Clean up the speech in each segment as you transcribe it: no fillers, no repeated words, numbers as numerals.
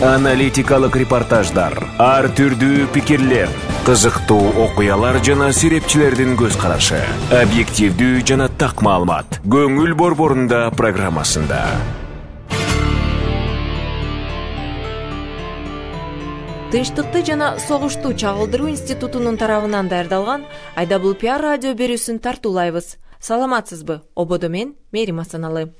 Аналитикалык репортаждар, ар түрдүү пикирлер, кызыктуу окуялар жана серепчилердин көз карашы. Объективдүү жана так маалымат. Көңүл борборунда программасында. Тынчтыкты жана согушту чагылдыруу институтунун тарабынан даярдалган Айдабыл пиар радио берүүсүн тартуулайбыз. Саламатсызбы? Ободо мен Мерим Асаналы.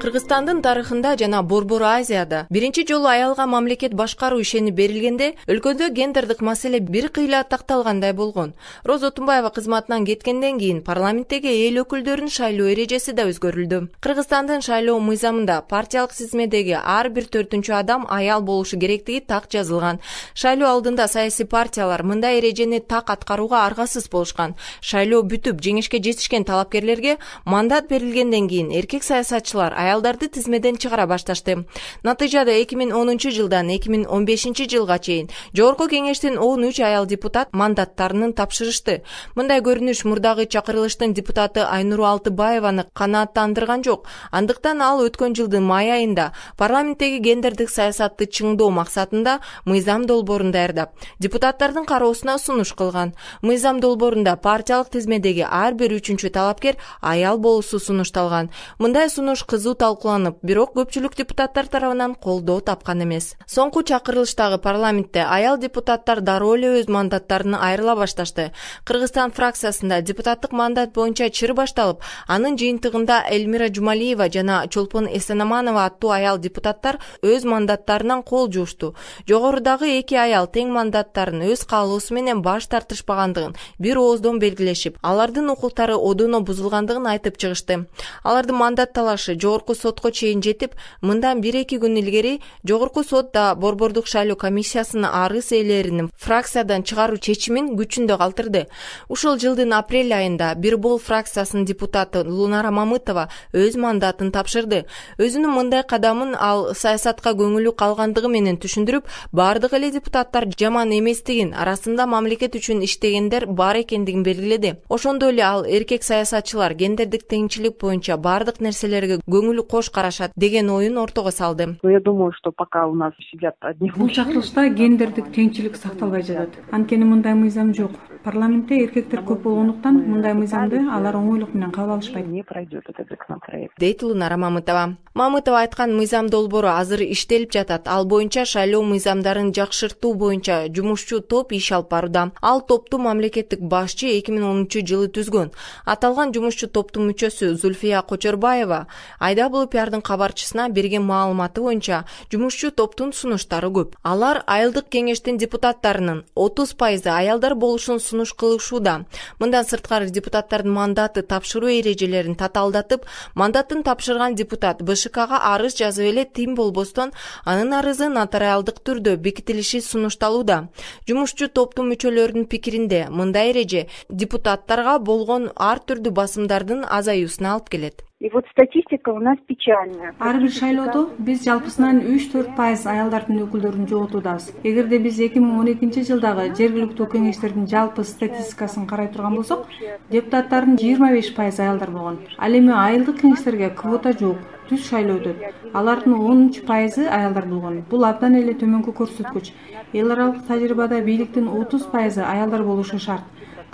Кыргызстандын тарыхында жана Борбор Азияда биринчи жолу аялга мамлекет башкаруу ишени берилгенде өлкөдө гендердик маселе бир кыйла такталгандай болгон. Роза Тумбаева кызматынан кеткенден кийин парламенттеги эл өкүлдөрүнүн шайлоо эрежеси да өзгөрүлдү. Кыргызстандын шайлоо мыйзамында партиялык тизмедеги ар бир 4-чү адам аял болушу керектиги так жазылган. Шайлоо алдында саясий партиялар мындай эрежени так аткарууга аргасыз болушкан. Шайлоо бүтүп жеңишке жетишкен талапкерлерге мандат берилгенден кийин эркек саясатчылар аялдарды тизмеден чыгара башташты. Натыйжада 2010-жылдан 2015-жылга чейин Жогорку кеңештин 13 аял депутат мандаттарын тапшырышты. Мындай көрүнүш мурдагы чакырылыштын депутаты Айнуру Алтыбаеваны канааттандырган жок. Андыктан ал өткөн жылдын май айында парламенттеги гендердик саясатты чыңдоо максатында мыйзам долбоорун даярдап, депутаттардын кароосуна сунуш кылган. Мыйзам долбоорунда партиялык тизмедеги ар бир 3-чү талапкер аял болуусу сунушталган. Мындай сунуш кызуу талкууланып, бирок көпчүлүк депутаттар тарабынан колдоо тапкан эмес. Соңку чакырылыштагы парламентте аял депутаттар дароо эле өз мандаттарынан айрыла башташты. Кыргызстан фракциясында депутаттык мандат боюнча чыр башталып, анын жыйынтыгында Эльмира Жумалиева жана Чолпон Эсенаманова аттуу аял депутаттар өз мандаттарынан кол жуушту. Жогорудагы 2 аял тең мандаттарын өз каалоосу менен баш тартышпагандыгын бир ооздон белгилешип, алардын укуктары одоно бузулгандыгын айтып чыгышты. Алардын мандат талашы Жогорку сотко чейин жетип, мындан 1-2 күн илгери Жогорку сот да Борбордук шайлоо комиссиясынын арыз ээлеринин фракциядан чыгаруу чечимин күчүндө калтырды. Ушул жылдын апрель айында Бирбол фракциясынын депутаты Лунара Мамытова өз мандатын тапшырды. Өзүнүн мындай кадамын ал саясатка көңүлү калгандыгы менен түшүндүрүп, бардык эле депутаттар жаман эместигин, арасында мамлекет үчүн иштегендер бар экендигин белгиледи. Ошондой эле ал эркек саясатчылар гендердик теңчилик боюнча бардык нерселерге көңүлү кош карашат деген оюн ортого салды. Я думаю, что пока у нас сидят одни. Бул чакырылышта гендердик теңчилик сакталбай жатат. Анткени мындай мыйзам жок. Парламентте эркектер көп болгондуктан мындай мыйзамды алар оңойлук менен кабыл алышпайт. Не пройдет этот законопроект. Дейт Лунара Мамытова. Мамытова айткан мыйзам долбоору азыр иштелип жатат. Ал боюнча шайлоо мыйзамдарын жакшыртуу боюнча жумушчу топ иш алып барууда. Ал топту мамлекеттик башчы 2010-жылы түзгөн. Аталган жумушчу топтун мүчөсү Зульфия Кочорбаева Айдабыл пиардын кабарчысына берген маалыматы боюнча жумушчу топтун сунуштары көп. Алар айылдык кеңештин депутаттарынын 30% аялдар болушун сунуш кылышууда. Мындан сырткары депутаттардын мандаты тапшыруу эрежелерин татаалдатып, мандатын тапшырган депутат БШКга арыз жазып эле тим болбостон анын арызы нотариалдык түрдө бекитилиши сунушталууда. Жумушчу топтун мүчөлөрүнүн пикиринде мындай эреже депутаттарга болгон ар түрдүү басымдардын азаюусуна алып келет. И вот статистика у нас печальная. Ар бир шайлоодо биз жалпысынан 3-4% аялдардын өкүлдөрүн жоготуудабыз. Эгерде биз 2012-жылдагы жергиликтүү кеңештердин жалпы статистикасын карай турган болсок, депутаттардын 25% аялдар болгон. Ал эми айылдык кеңештерге квота жок. Түз шайлоо өтөт. Алардын 13% аялдар болгон. Бул абдан эле төмөнкү көрсөткүч. Эл аралык тажрыйбада бийликтин 30% аялдар болушу шарт.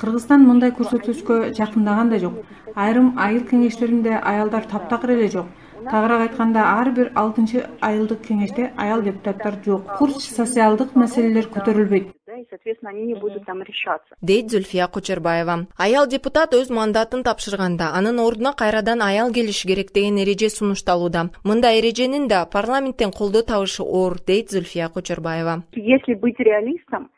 Кыргызстан мындай көрсөткүчкө жакындаган да жок. Айрым айыл кеңештеринде аялдар таптакыр эле жок. Тагыраак айтканда, ар бир 6-чы айылдык кеңеште аял депутаттар жок. Курч социалдык маселелер көтөрүлбөйт. И, соответственно, они не будут там решаться. Дейт Зульфия Кочорбаева. Аял депутат өз мандатын тапшырганда, анын ордуна кайрадан аял келиши керек деген эреже сунушталууда. Мындай эреженин да парламенттен колдоо табышы оор, дейт Зульфия Кочорбаева. Если быть реалистом,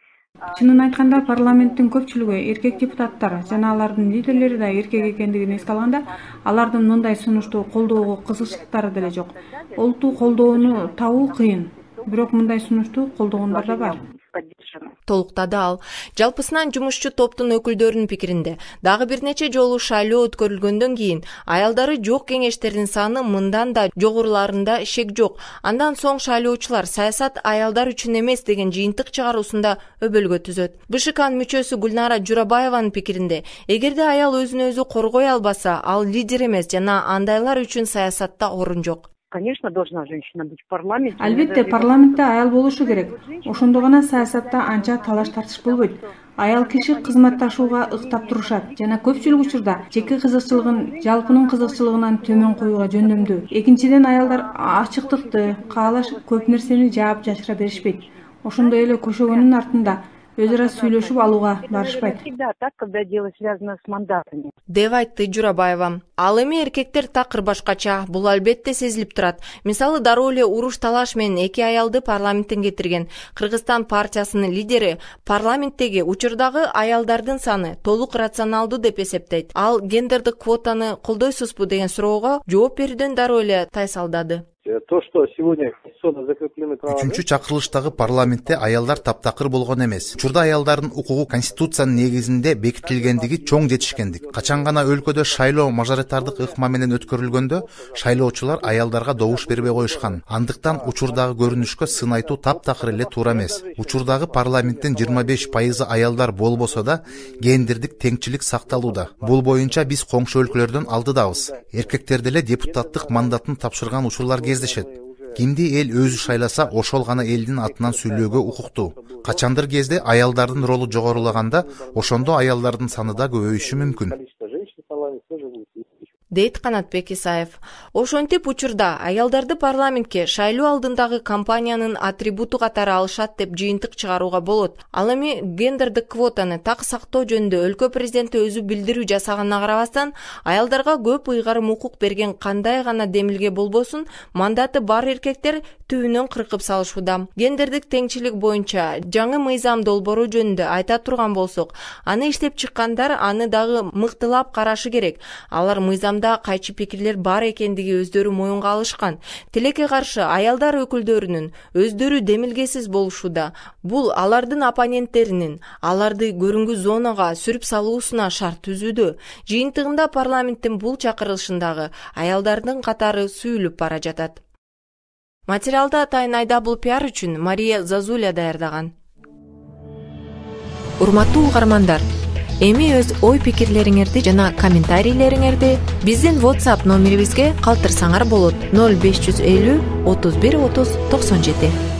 Чынын айтканда, парламенттин көпчүлүгү эркек депутаттар жана алардын лидерлери да эркек экендигин эске алганда, алардын мындай сунушту колдоого кызыкчылыктары деле жок. Олту колдоону табуу кыйын, бирок мындай сунушту колдогондар да бар. Толуктады ал. Жалпысынан жумушчу топтун өкүлдөрүнүн пикиринде дагы бир нече жолу шайлоо өткөрүлгөндөн кийин аялдары жок кеңештердин саны мындан да жогоруларында шек жок. Андан соң шайлоочулар саясат аялдар үчүн эмес деген жыйынтык чыгаруусунда өбөлгө түзөт. БШКнын мүчөсү Гүлнара Журабаеванын пикиринде, эгерде аял өзүн өзү коргой албаса, ал лидер эмес жана андайлар үчүн саясатта орун жок. Конечно, должна женщина быть в парламенте. Албетте парламентте аял болушу керек. Ошондо гана саясатта анча талаш тартыш болбойт. Аял киши кызматташууга ыктап турушат жана көпчүлүк учурда жеке кызыкчылыгын жалпынын кызыкчылыгынан төмөн коюуга жөндөмдүү. Экинчиден, аялдар ачыктыкты каалашып көп нерсени жаап жашыра беришпейт. Ошондой эле көшөгөнүн артында өз ара сүйлөшүп алууга барышпайт. Всегда так, когда дело связано с мандатами. деп айтты Журабаева. Ал эми эркектер такыр башкача, бул албетте сезилип турат. Мисалы, дароо эле уруш талаш менен 2 аялды парламенттен кетирген Кыргызстан партиясынын лидери парламенттеги учурдагы аялдардын саны толук рационалдуу деп эсептейт. Ал гендердик квотаны колдойсузбу деген суроого жооп берүүдөн дароо эле тайсалдады. То, что сегодня конституционно закреплены права. Үчүнчү чакырылыштагы парламентте аялдар таптакыр болгон эмес. Учурда аялдардын укугу конституциянын негизинде бекитилгендиги чоң жетишкендик. Качан гана өлкөдө шайлоо мажоритардык ыкма менен өткөрүлгөндө шайлоочулар аялдарга добуш бербей коюшкан. Андыктан учурдагы көрүнүшкө сын айтуу таптакыр эле туура эмес. Учурдагы парламенттин 25% аялдар болбосо да гендердик теңчилик сакталууда. Бул боюнча биз коңшу өлкөлөрдөн алдыдабыз. Эркектер деле депутаттык мандатын тапшырган учурлар кездешет. Кимди эл өзү шайласа, ошол гана элдин атынан сүйлөөгө укуктуу. Качандыр кезде аялдардын ролу жогорулаганда, ошондо аялдардын саны да көбөйүшү мүмкүн. Дейт Канатбек Исаев. Ошентип учурда аялдарды парламентке шайлоо алдындагы кампаниянын атрибуту катары алышат деп жыйынтык чыгарууга болот. Ал эми гендердик квотаны так сактоо жөнүндө өлкө президенти өзү билдирүү жасаганына карабастан, аялдарга көп ыйгарым укук берген кандай гана демилге болбосун, мандаты бар эркектер түбүнөн кыркып салышууда. Гендердик теңчилик боюнча жаңы мыйзам долбоору жөнүндө айта турган болсок, аны иштеп чыккандар аны дагы мыктылап карашы керек. Алар мыйзам кайчы пикирлер бар экендиги өздөрү моюнга алышкан. Тилекке каршы аялдар өкүлдөрүнүн өздөрү демилгесиз болушууда. Бул алардын оппоненттеринин аларды көрүнгү зонага сүрүп салуусуна шарт түзүүдө. Жыйынтыгында парламенттин бул чакырылышындагы аялдардын катары сүйүлүп бара жатат. Материалды атайын IWPR үчүн Мария Зазуля даярдаган. Урматтуу угармандар, эми өз ой-пикирлериңерди жана комментарийлериңерди биздин WhatsApp номерибизге калтырсаңар болот. 0550 31 30 97.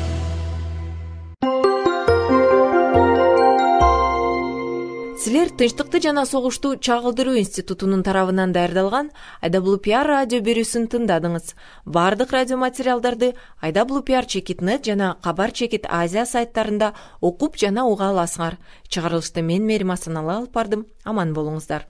Силер Тынчтыкты жана согушту чагылдыруу институтунун тарабынан даярдалган IWPR радио берүүсүн тыңдадыңыз. Бардык радио материалдарды IWPR.net жана Кабар.net Азия сайттарында окуп жана уга аласыңар. Чыгарылышты мен Мерим Асаналы алып бардым. Аман болуңуздар.